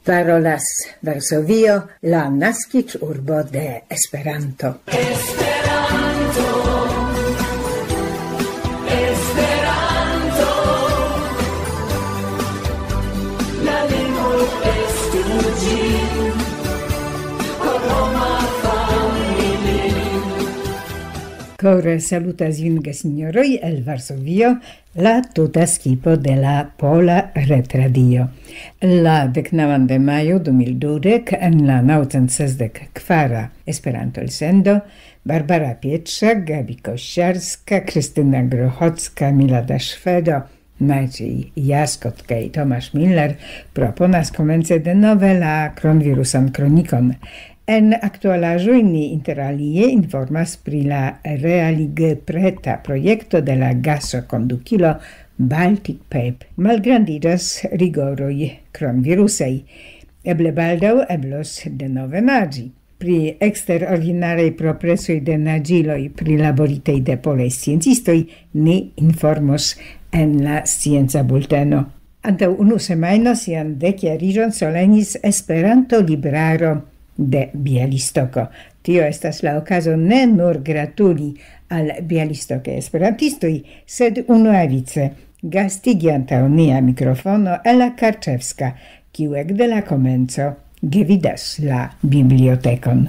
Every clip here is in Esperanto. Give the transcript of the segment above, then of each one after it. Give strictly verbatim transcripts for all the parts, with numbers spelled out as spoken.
Parolas Varsovio, la naskiĝurbo de Esperanto. Esperanto, Esperanto, la lingvo estu ĝi, por homa familio. Kore salutas vin, gesinjoroj, el Varsovio, la tuta skipo de la Pola Retradio. La deknaŭan de majo du mil dudek en la naŭcent sesdek kvara Esperanto-elsendo, Barbara Pietrza, Gabi Kościarska, Krystyna Grochocka, Milada Szwedo, Maciej Jaskot kaj Tomasz Miller proponas komence denove la kronvirusan kronikon. En aktualaĵoj ni inter alie informas pri la realigepreta projekto de la gaso kondukilo Baltic Pipe. Malgrandiĝas rigoroj kronvirusaj. Eble baldaŭ eblos denove naĝi. Pri eksterordinaraj progresoj de naĝiloj prilaboritej de polaj sciencistoj ni informos en la scienca bulteno. Antaŭ unu semajno sian dekjariĝon solenis Esperanto-libraro de Bialistoko. Tio estas la okazo ne nur gratuli al bialistokaj esperantistoj, sed unuavice gastigi antaŭ nia mikrofono Ela Karczewska, kiu ekde la komenco gvidas la bibliotekon.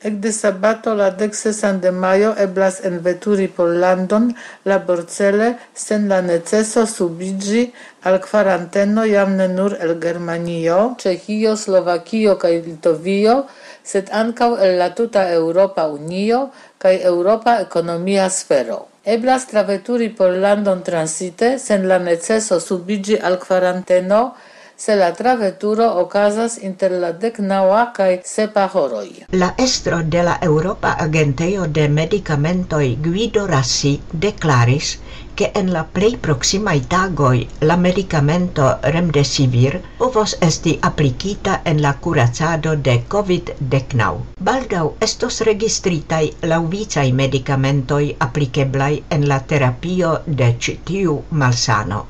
Ekde sabato, la deksesan de majo, eblas enveturi Pollandon laborcele, sen la neceso subiĝi al kvaranteno, jam ne nur el Germanio, Ĉeĥio, Slovakio kaj Litovio, sed ankaŭ el la tuta Eŭropa Unio kaj Eŭropa Ekonomia Sfero. Eblas traveturi Pollandon transite sen la neceso subiĝi al kvaranteno, se la traveturo okazas inter la deknaŭa kaj sepa horoj. La estro de la Eŭropa Agentejo de Medikamentoj, Guido Rassi, deklaris, ke en la plej proksimaj tagoj la medikamento Remdesivir povos esti aplikita en la kuracado de COVID-19. Baldaŭ estos registritaj laŭvicaj medikamentoj aplikeblaj en la terapio de ĉi tiu malsano.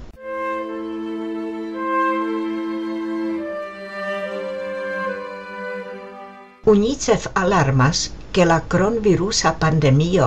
UNICEF alarmas, ke la kronvirusa pandemio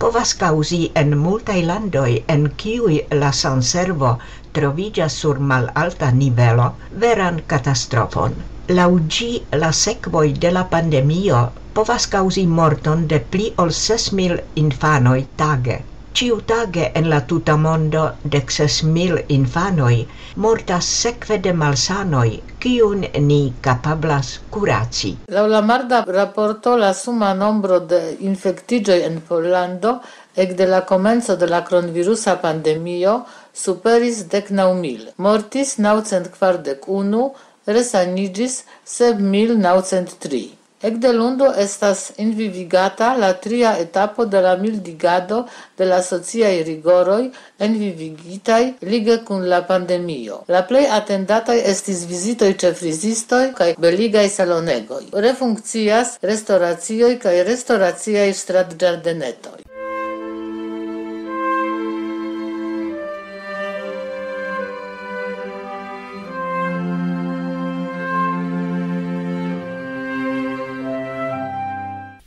povas kaŭzi en multaj landoj, en kiuj la sanservo troviĝas sur malalta nivelo, veran katastrofon. Laŭ ĝi, la sekvoj de la pandemio povas kaŭzi morton de pli ol ses mil infanoj tage. Ĉiutage en la tuta mondo dek ses mil infanoj mortas sekve de malsanoj, kiun ni kapablas kuraci. Laŭ la marda raporto, la suma nombro de infektiĝoj en Pollando ekde la komenco de la kronvirusa pandemio superis deknaŭ mil. Mortis naŭcent kvardek unu, resaniĝis sep mil naŭcent tri. Ekde lundo estas envivigata la tria etapo de la mildigado de la sociaj rigoroj envivigitaj lige kun la pandemio. La plej atendataj estis vizitoj ĉe frizistoj kaj beligaj salonegoj. Refunkcias restoracioj kaj restoraciaj stratĝardenetoj.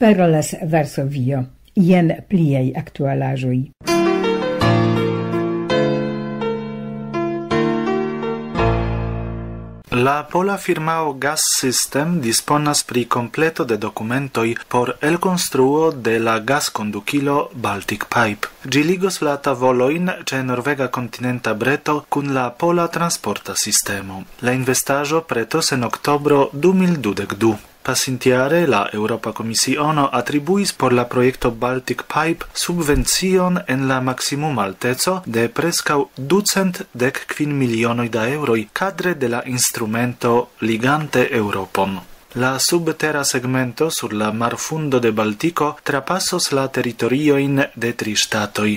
Parolas Varsovio. Jen pliaj aktualaĵoj. La pola firmao Gas System disponas pri kompleto de dokumentoj por elkonstruo de la gaskondukilo Baltic Pipe. Ĝi ligos la tavolojn ĉe norvega kontinenta breto kun la pola transporta sistemo. La investaĵo pretos en oktobro du mil dudek du. Pasintjare la Eŭropa Komisiono atribuis por la projekto Baltic Pipe subvencion en la maksimuma alteco de preskaŭ ducent dek kvin milionoj da eŭroj kadre de la instrumento Ligante Eŭropon. La subtera segmento sur la marfundo de Baltiko trapasos la teritoriojn de tri ŝtatoj.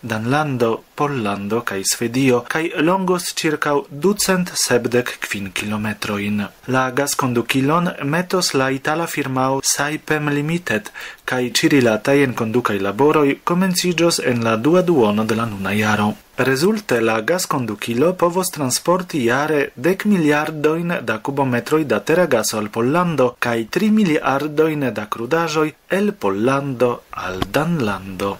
Danlando, Pollando kaj Svedio, kaj longos ĉirkaŭ ducent sepdek kvin kilometrojn. La gaskondukilon metos la itala firmao Saipem Limited, kaj ĉirilataj enkondukaj laboroj komenciĝos en la dua duono de la nuna jaro. Rezulte la gaskondukilo povos transporti jare dek miliardojn da kubometroj da tera gaso al Pollando kaj tri miliardojn da krudaĵoj el Pollando al Danlando.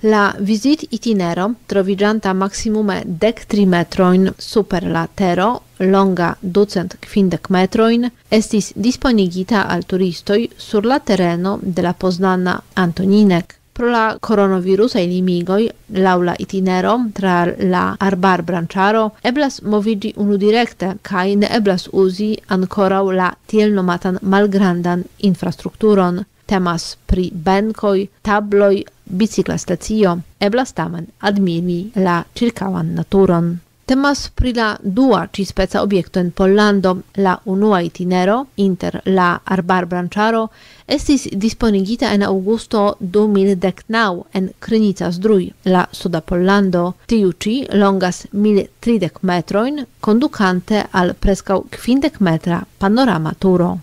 La vizit-itinero, troviĝanta maksimume dek tri metrojn super la tero, longa ducent kvindek metrojn, estis disponigita al turistoj sur la tereno de la poznana Antoninek. Pro la koronavirusaj limigoj, laŭ la itinero tra la arbarbranĉaro eblas moviĝi unudirekte kaj ne eblas uzi ankoraŭ la tiel nomatan malgrandan infrastrukturon. Temas pri benkoj, tabloj, bicikla stacio. Eblas tamen admiri la ĉirkaŭan naturon. Temas pri la dua ĉispeca objekto en Pollando. La unua itinero inter la arbarbranĉaro estis disponigita en aŭgusto du mil dek naŭ en Krynica Zdrój, la suda Pollando. Tiu ĉi longas mil tridek metrojn, kondukante al preskaŭ kvindek metra panorama turo.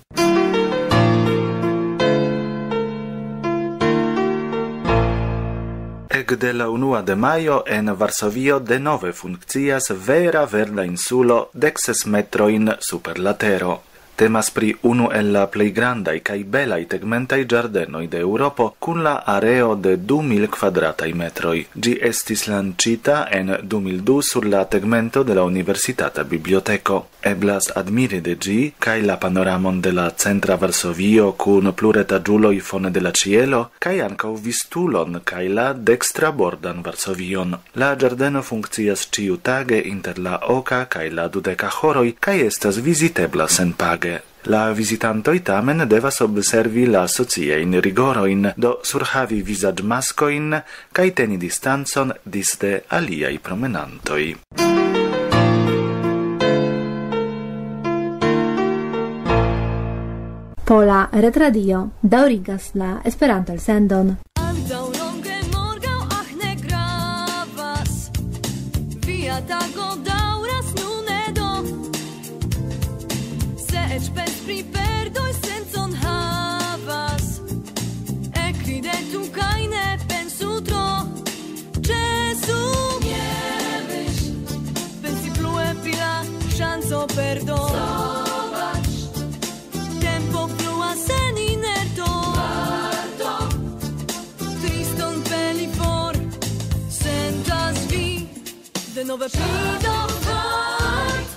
Ekde la unua de majo en Varsovio denove funkcias vera verda insulo dek ses metrojn super la tero. Temas pri unu el la plej grandaj kaj belaj tegmentaj ĝardenoj de Eŭropo, kun la areo de du mil kvadrataj metroj. Ĝi estis lanĉita en du mil du sur la tegmento de la Universitata Biblioteko. Eblas admiri de ĝi kaj la panoramon de la centra Varsovio kun pluretaĝuloj fone de la ĉielo, kaj ankaŭ Vistulon kaj la dekstrabordan Varsovion. La ĝardeno funkcias ĉiutage inter la oka kaj la dudeka horoj kaj estas vizitebla senpage. La vizitantoj tamen devas observi la sociajn rigorojn, do surhavi vizaĝmaskojn kaj teni distancon disde aliaj promenantoj. Pola Retradio daŭrigas la Esperanto-elsendon. Ach, daŭronge morgaŭ, ach, ne gravas. Via tago daŭras, nun ne do. Se eĉ pens pri perdoj sencon havas, ekridetu kaj ne pensu tro. Ĉesu, nie myśl, pensi plue pri la ŝanco perdo. Zobacz, tempo flua sen inerto. Varto, triston peli for, sentas vi denove pli do fort.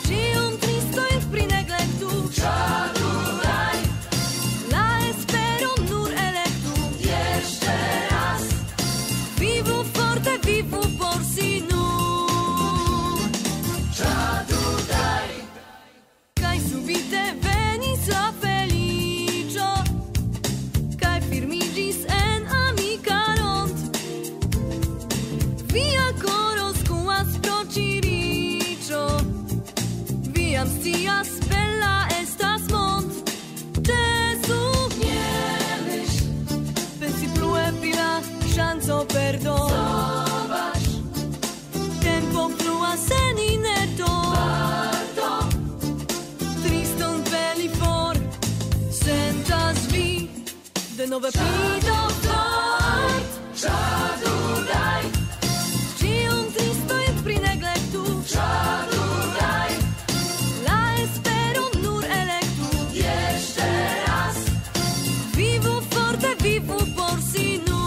Ĉion tristojn prineglektu. La esperon nur elektu. Vivu forte, vivu por si nur. Kaj subite venis la feliĉo, kaj firmiĝis en amika rond. Via koro skuas pro ĉi riĉo, vi jam scias, bela estas mond. Ĉesu, nie myśl, pensi plue pri la ŝanco perdo. Zobacz, tempo flua sen inerto. Varto, triston peli for, sentas vi denove pli do fort. Ĉion tristojn prineglektu. La esperon nur elektu. Vivu forte, vivu por si nur.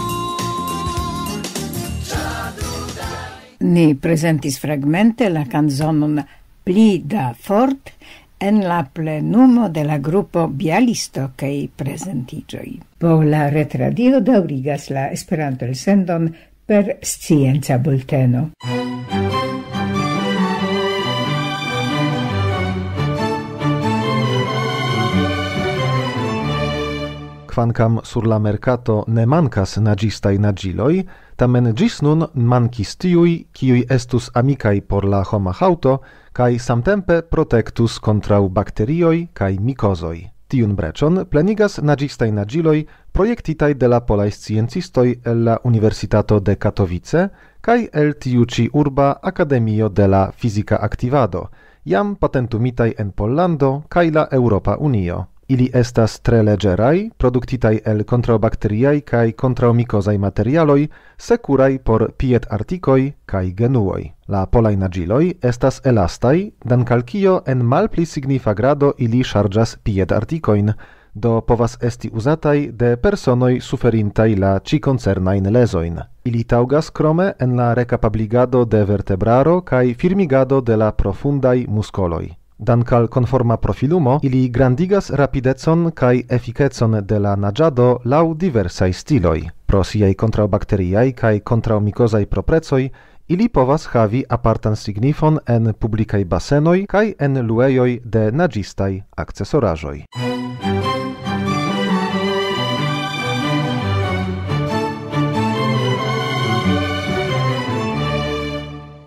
Ni prezentis fragmente la kanzonon Pli da fort en la plenumo de la grupo Bialisto kaj prezentiĝoj. Pola Retradio daŭrigas la Esperanto-elsendon per scienca bulteno. Kvankam sur la merkato ne mankas naĝistaj naĝiloj, Tamen ĝis nun mankis tiuj, kiuj estus amikaj por la homa haŭto, kaj samtempe protektus kontraŭ bakterioj kaj mikozoj. Tiun breĉon plenigas naĝistaj naĝiloj, projektitaj de la polaj sciencistoj el la Universitato de Katowice kaj el tiu ĉi urba Akademio de la Fizika Aktivado, jam patentumitaj en Pollando kaj la Eŭropa Unio. Ili estas tre leĝeraj, produktitaj el kontraŭbakteriaj kaj kontraŭmikozaj materialoj, sekuraj por piedartikoj kaj genuoj. La polaj naĝiloj estas elastaj, dank al kio en malpli signifa grado ili ŝarĝas piedartikojn, do povas esti uzataj de personoj suferintaj la ĉi koncernajn lezojn. Ili taŭgas krome en la rekapabligado de vertebraro kaj firmigado de la profundaj muskoloj. Dank al konforma profilumo, ili grandigas rapidecon kaj efikecon de la naĝado laŭ diversaj stiloj. Pro siaj kontraŭbakteriaj kaj kontraŭmikozaj proprecoj, ili povas havi apartan signifon en publikaj basenoj kaj en luejoj de naĝistaj akcesoraĵoj.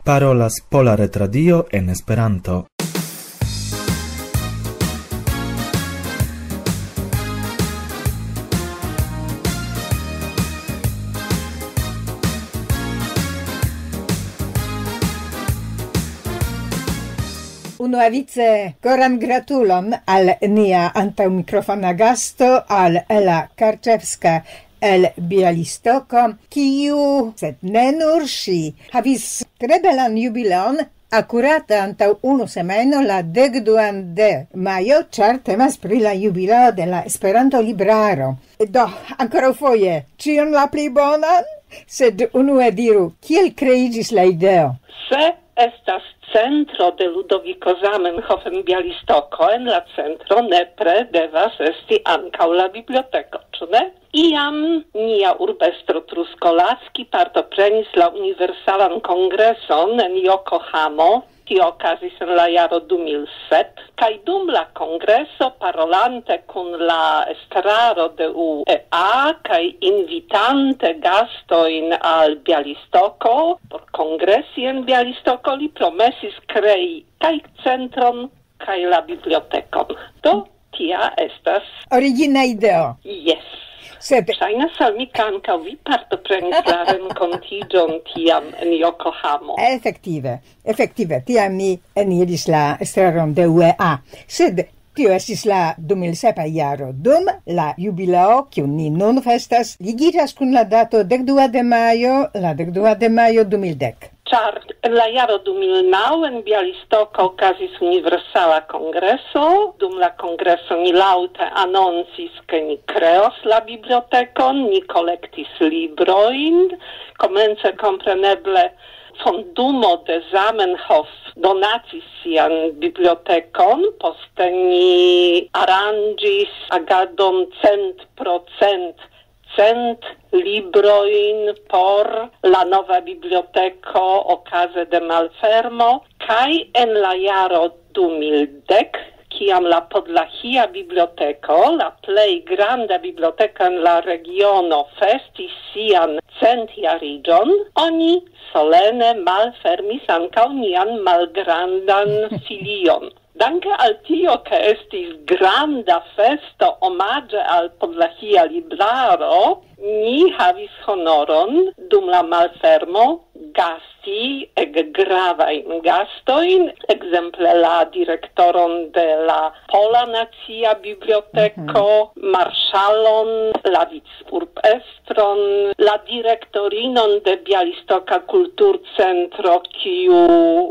Parolas Pola Retradio en Esperanto. Unuavice koran gratulon al nia antaŭmikrofona gasto, al Ela Karczewska el Bialystoko, kiu, sed ne nur ŝi, havis tre belan jubileon akurate antaŭ unu semajno, la dek duan de majo, ĉar temas pri la jubileo de la Esperanto-libraro. Do, ankoraŭfoje, ĉion la pli bonan, sed unue diru, kiel kreiĝis la ideo? Se estas centro de Ludoviko Zamenhof en Bialystoko, en la centro nepre devas esti ankaŭ la biblioteko, ĉu ne? Iam nia urbestro Truskolaski partoprenis la Universalan Kongreson en Yokohamo, tio okazis en la jaro du mil sep, kaj dum la kongreso, parolante kun la estraro de U E A kaj invitante gastojn al Bialystoko por kongresi en Bialystoko, li promesis krei kaj centron, kaj la bibliotekon. Do, tia estas. Origina ideo. Jes. Sed ŝajnas al mi, ke ankaŭ vi partoprenis la renkontiĝon tiam en Yokohamo. Efektive, efektive, tiam mi eniris la estraron de U E A. Sed tio estis la du mil sepa jaro, dum la jubileo, kiun ni nun festas, ligiĝas kun la dato dek dua de majo, la dek dua de majo du mil dek. Ĉar en la jaro du mil naŭ en Bialystoko okazis Universala Kongreso. Dum la kongreso ni laŭte anoncis, ke ni kreos la bibliotekon, ni kolektis librojn. Komence, kompreneble, fondumo de Zamenhof donacis sian bibliotekon, poste ni aranĝis agadon cent procent, cent librojn por la nova biblioteko okaze de malfermo, kaj en la jaro du mil dek, kiam la Podlahia Biblioteko, la plej granda biblioteko en la regiono, festis sian centjariĝon, oni solene malfermis ankaŭ nian malgrandan filion. Danke al tio, ke estis granda festo omaĝe al Podlahia Libraro, ni havis honoron dum la malfermo gasti ege gravajn gastojn, ekzemple la direktoron de la Pola Nacia Biblioteko, mhm, marŝalon, la vicurbestron, la direktorinon de Bialistoka Kulturcentro, kiu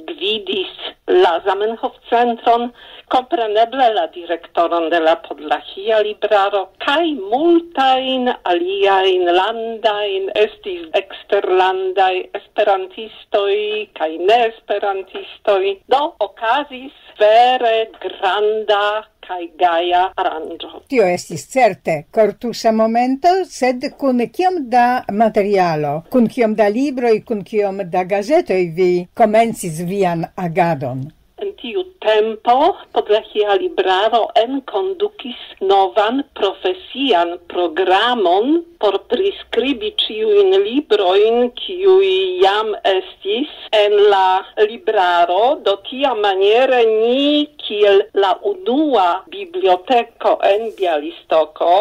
gvidis la Zamenhof-centron, kompreneble la direktoron de la Podlahia Libraro, kaj multajn aliajn landajn, estis eksterlandaj esperantistoj kaj neesperantistoj. Do, okazis vere granda kaj gaja aranĝo. Tio estis certe kortusa momento, sed kun kiom da materialo, kun kiom da libroj, kun kiom da gazetoj vi komencis vian agadon? En tiu tempo Podlahia Libraro enkondukis novan profesian programon por priskribi ĉiujn librojn, kiuj jam estis en la libraro. Do tiamaniere ni, kiel la unua biblioteko en Bialystoko,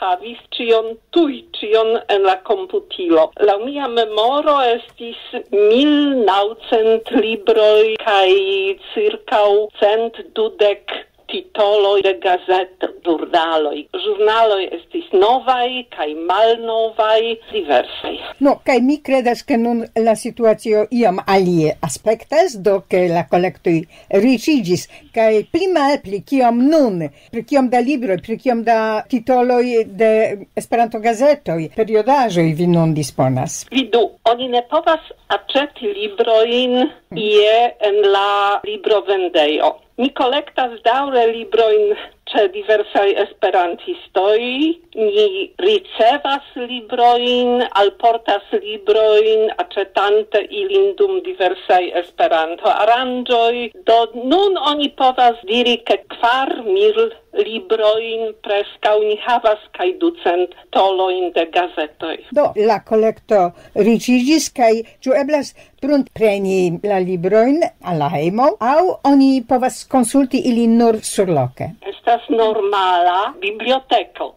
havis ĉion tuj, ĉion en la komputilo. Laŭ mia memoro estis mil naŭcent libroj kaj cirkaŭ cent dudek titoloj de gazeto, ĵurnaloj. Ĵurnaloj estis novaj kaj malnovaj, diversaj. No, kaj mi kredas, ke nun la situacio iom alie aspektas, do ke la kolektoj riĉiĝis, kaj pli malpli kiom nun, pri kiom da libroj, pri kiom da titoloj de Esperanto-gazetoj, periodaĵoj vi nun disponas? Vidu, oni ne povas aĉeti librojn ie en la librovendejo. Mi kolektas daŭre librojn ĉe diversaj esperantistoj. Ni ricevas librojn, alportas librojn, aĉetante ilin dum diversaj Esperanto-aranĝoj. Do nun oni povas diri, ke kvar mil librojn preskaŭ ni havas, kaj ducent tolojn de gazetoj. Do, la kolekto riĉiĝis, kaj ĉu eblas pruntpreni la librojn al la hejmo, aŭ oni povas konsulti ilin nur surloke? Estas normala biblioteko.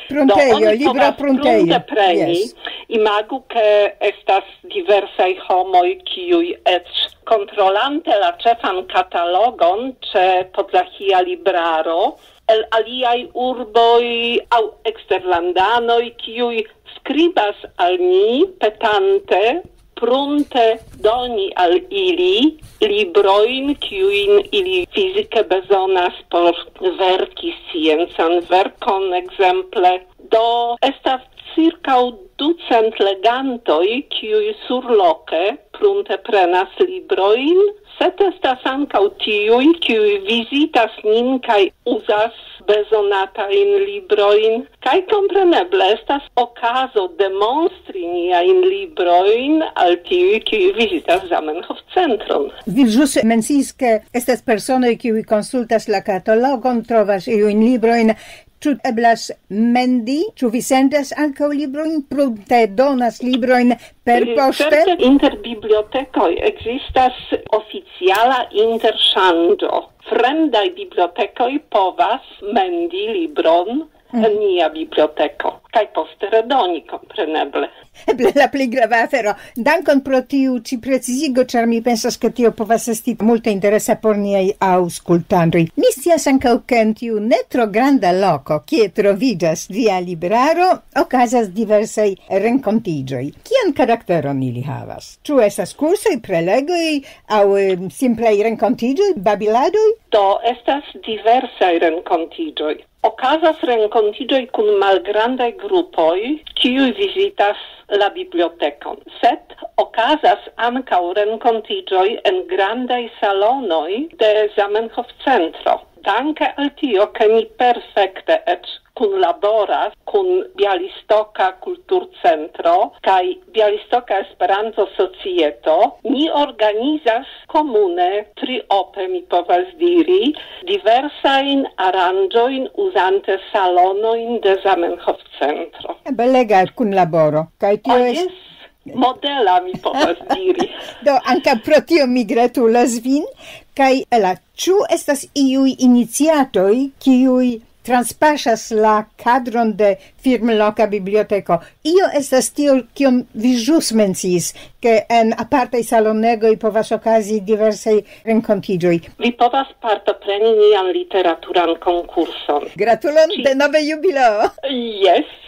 Pruntejo, Do, oni libra povas pruntejo. Prunte preni. Yes. Imagu, ke estas diversaj homoj, kiuj eĉ kontrolante la ĉefan katalogon ĉe Podlahia Libraro, el aliaj urboj aŭ eksterlandanoj, kiuj skribas al ni petante prunte doni al ili librojn, kiujn ili fizike bezonas por verki sciencan verkon, ekzemple. Do estas cirkaŭ ducent legantoj, kiuj surloke prunte prenas librojn, sed estas ankaŭ tiuj, kiuj vizitas nin kaj uzas bezonatajn librojn. Kaj kompreneble estas okazo demonstri niajn librojn al tiuj, kiuj vizitas Zamenhof-centron. Vi ĵus menciis, ke estas personoj, kiuj konsultas la katalogon, trovas iujn librojn. Ĉu eblas mendi? Ĉu vi sendas ankaŭ librojn? Prunte donas librojn per poŝte? Certe, inter bibliotekoj ekzistas oficiala interŝanĝo. Fremdaj bibliotekoj povas mendi libron en nia biblioteko, kaj poste redoni, kompreneble. Eble la plej grava afero. Dankon pro tiu ĉi precizigo, ĉar mi pensas, ke tio povas esti multe interesa por niaj aŭskultantoj. Mi scias ankaŭ, ke en tiu ne tro granda loko, kie troviĝas via libraro, okazas diversaj renkontiĝoj. Kian karakteron ili havas? Ĉu estas kursoj, prelegoj aŭ, em, simplaj renkontiĝoj, babiladoj? Do, estas diversaj renkontiĝoj. Okazas renkontiĝoj kun malgrandaj grupoj, kiuj vizitas la bibliotekon, sed okazas ankaŭ renkontiĝoj en grandaj salonoj de Zamenhof-centro. Danke al tio, ke ni perfekte eĉ kunlaboras kun Bialistoka Kulturcentro kaj Bialistoka Esperanto-Societo, ni organizas komune, triope, mi povas diri, diversajn aranĝojn uzante salonojn de Zamenhof-centro. Belega kunlaboro. Kaj tio Ah, estas jes, modela, mi povas diri. Do, ankaŭ pro tio mi gratulas vin. Kaj, Ela, ĉu estas iuj iniciatoj, kiuj transpaŝas la kadron de firmloka biblioteko? Io estas tio, kion vi ĵus menciis, ke en apartaj salonegoj povas okazi diversaj renkontiĝoj. Vi povas partopreni nian literaturan konkurson. Gratulon, denove jubileo! Jes,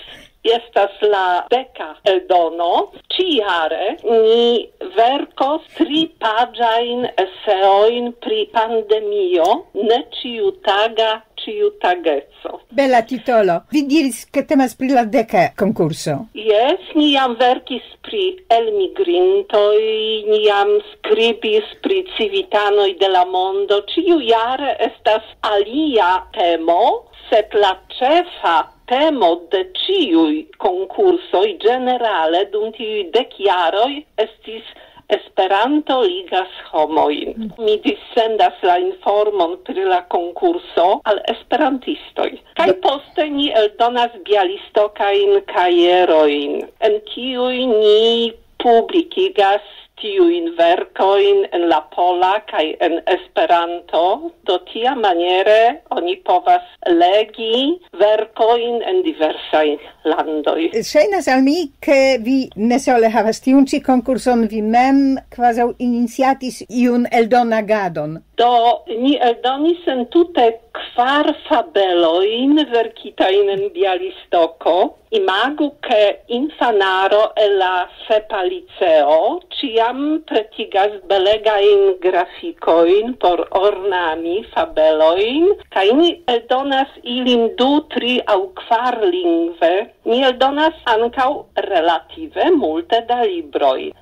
estas la deka eldono. Ĉiare ni verkos tri paĝajn eseojn pri pandemio, ne ĉiutaga ĉiutageco. Bela titolo. Vi diris, ke temas pri la deka konkurso. Jes, ni jam verkis pri elmigrintoj, ni jam skribis pri civitanoj de la mondo. Ĉiujare estas alia temo, sed la ĉefa temo de ĉiuj konkursoj ĝenerale dum tiuj dek jaroj estis Esperanto ligas homojn. Mi dissendas la informon pri la konkurso al esperantistoj. Kaj poste ni eldonas bialistokajn kajerojn, en kiuj ni publikigas tiujn verkojn en la pola kaj en Esperanto. Do tiamaniere oni povas legi verkojn en diversaj landoj. Ŝajnas al mi, ke vi ne sole havas tiun ĉi konkurson, vi mem kvazaŭ iniciatis iun eldonagadon. Do, ni eldonis en tute kvar fabelojn verkitajn en Bialistoko. Imagu, ke infanaro el la sepa liceo ĉiam pretigas belegajn grafikojn por ornami fabelojn, kaj ni eldonas ilin du, tri aŭ kvar lingve. Ni eldonas ankaŭ relative multe da libroj.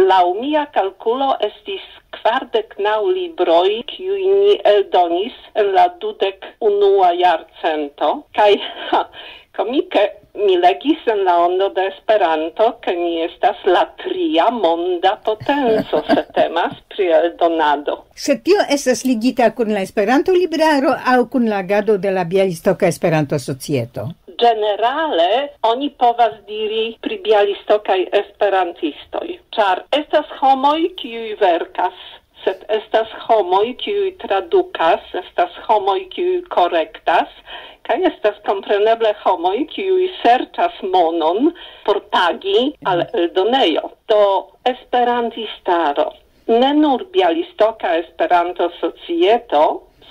Laŭ mia kalkulo estis kvardek naŭ libroj, kiujn ni eldonis en la dudek unua jarcento, kaj, ha, komike, mi legis en la ondo de Esperanto, ke ni estas la tria monda potenco, se temas pri eldonado. Se tio estas ligita kun la Esperanto-libraro aŭ kun la agado de la Bialistoka Esperanto-Societo? Ĝenerale, oni povas diri pri bialistokaj esperantistoj, ĉar estas homoj, kiuj verkas, sed estas homoj, kiuj tradukas, estas homoj, kiuj korektas, kaj estas kompreneble homoj, kiuj serĉas monon por pagi al eldonejo. Do esperantistaro, ne nur Bialistoka Esperanto-Societo,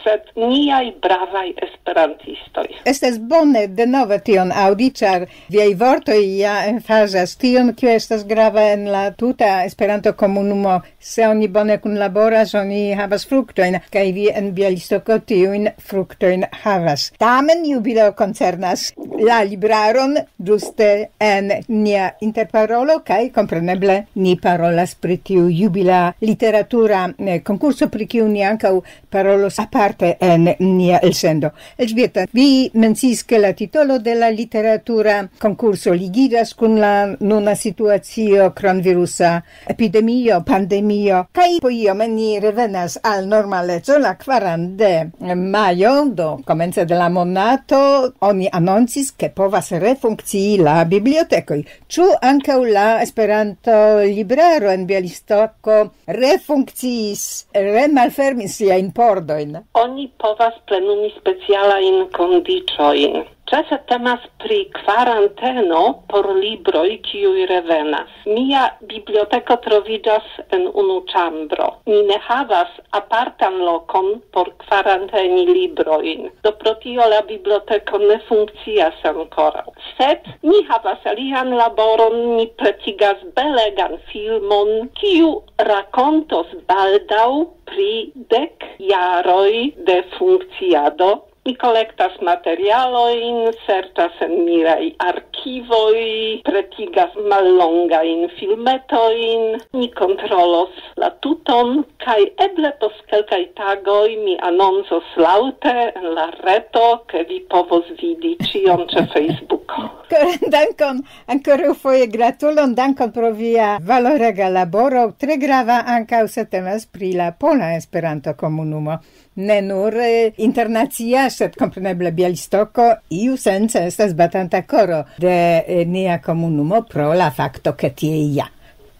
sed niaj bravaj esperantistoj. Estas bone denove tion aŭdi, ĉar viaj vortoj ja emfazas tion, kio estas grava en la tuta Esperanto-komunumo. Se oni bone kunlaboras, oni havas fruktojn, kaj vi en Bialistoko tiujn fruktojn havas. Tamen jubileo koncernas la libraron ĝuste en nia interparolo, kaj kompreneble ni parolas pri tiu jubila literatura, eh, konkurso, pri kiu ni ankaŭ parolos aparte en nia elsendo. Elżbieta, vi menciis, ke la titolo de la literatura konkurso ligiĝas kun la nuna situacio, kronvirusa epidemio, pandemio, kaj po iome ni revenas al normaleco. La kvaran de majo, do komence de la monato, oni anoncis, ke povas refunkcii la bibliotekoj. Ĉu ankaŭ la Esperanto-libraro en Bialistoko refunkciis, remalfermis siajn pordojn? Oni povas plenumi specialajn kondiĉojn. Ĉefe temas pri kvaranteno por libroj, kiuj revenas. Mia biblioteko troviĝas en unu ĉambro. Ni ne havas apartan lokon por kvaranteni librojn. Do pro tio la biblioteko ne funkcias ankoraŭ. Sed ni havas alian laboron, ni pretigas belegan filmon, kiu rakontos baldaŭ pri dek jaroj de funkciado. Ni kolektas materialojn, serĉas en miaj arkivoj, pretigas mallongajn filmetojn, ni kontrolos la tuton, kaj eble post kelkaj tagoj mi anoncos laŭte en la reto, ke vi povos vidi ĉion ĉe Facebooko. Koran dankon, ankoraŭ foje gratulon, dankon pro via valorega laboro, tre grava ankaŭ se temas pri la pola Esperanto-komunumo. Ne nur, eh, internacia, sed kompreneble Bialistoko iusence estas batanta koro de, eh, nia komunumo pro la fakto, ke tie ja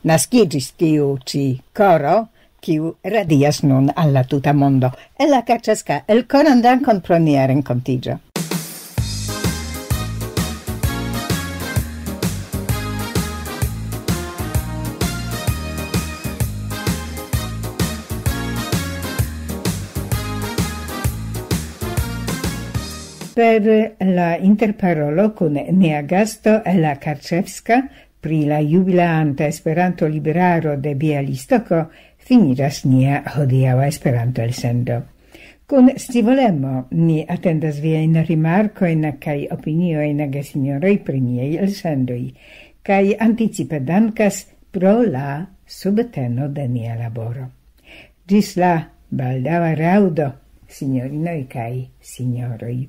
naskiĝis tiu ĉi koro, kiu radias nun al la tuta mondo. Ella Kaczewska, elkoran dankon pro nia renkontiĝo. Per la interparolo kun nia gasto Ella Karczewska pri la jubileanta Esperanto-libraro de Bialistoko finiĝas nia hodiaŭa Esperanto-elsendo. Kun scivolemo ni atendas viajn rimarkojn kaj opiniojn, gesinjoroj, pri niaj elsendoj, kaj anticipe dankas pro la subteno de nia laboro. Ĝis la baldaŭa raŭdo, sinjorinoj kaj sinjoroj.